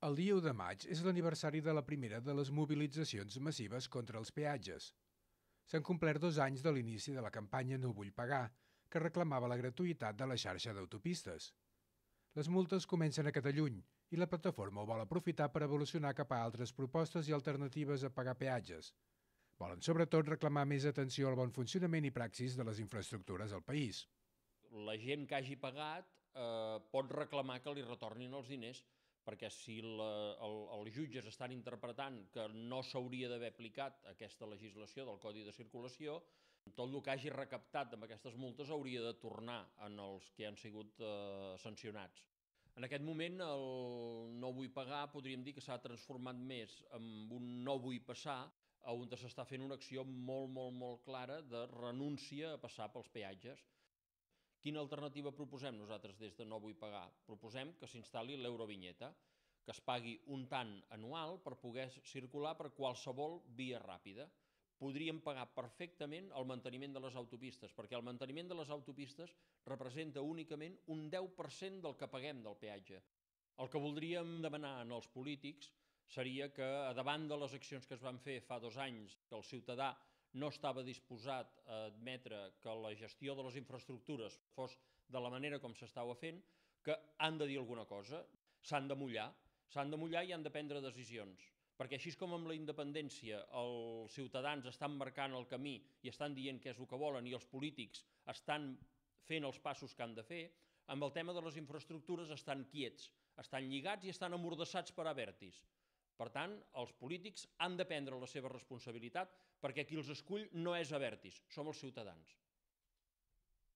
El dia 1 de maig és l'aniversari de la primera de les mobilitzacions massives contra els peatges. S'han complert 2 anys de l'inici de la campanya No vull pagar, que reclamava la gratuïtat de la xarxa d'autopistes. Les multes comencen a Catalunya i la plataforma ho vol aprofitar per evolucionar cap a altres propostes i alternatives a pagar peatges. Volen sobretot reclamar més atenció al bon funcionament i praxis de les infraestructures al país. La gent que hagi pagat pot reclamar que li retornin els diners, perquè si els jutges estan interpretant que no s'hauria d'haver aplicat aquesta legislació del Codi de Circulació, tot el que hagi recaptat amb aquestes multes hauria de tornar en els que han sigut sancionats. En aquest moment el no vull pagar podríem dir que s'ha transformat més en un no vull passar, on s'està fent una acció molt clara de renúncia a passar pels peatges. Quina alternativa proposem nosaltres des de No vull pagar? Proposem que s'instal·li l'eurovinyeta, que es pagui un tant anual per poder circular per qualsevol via ràpida. Podríem pagar perfectament el manteniment de les autopistes, perquè el manteniment de les autopistes representa únicament un 10% del que paguem del peatge. El que voldríem demanar als polítics seria que, davant de les accions que es van fer fa 2 anys, que el ciutadà no estava disposat a admetre que la gestió de les infraestructures fos de la manera com s'estava fent, que han de dir alguna cosa, s'han de mullar i han de prendre decisions. Perquè així com amb la independència els ciutadans estan marcant el camí i estan dient què és el que volen i els polítics estan fent els passos que han de fer, amb el tema de les infraestructures estan quiets, estan lligats i estan amordassats per Abertis. Per tant, els polítics han de prendre la seva responsabilitat perquè qui els escull no és Abertis, som els ciutadans.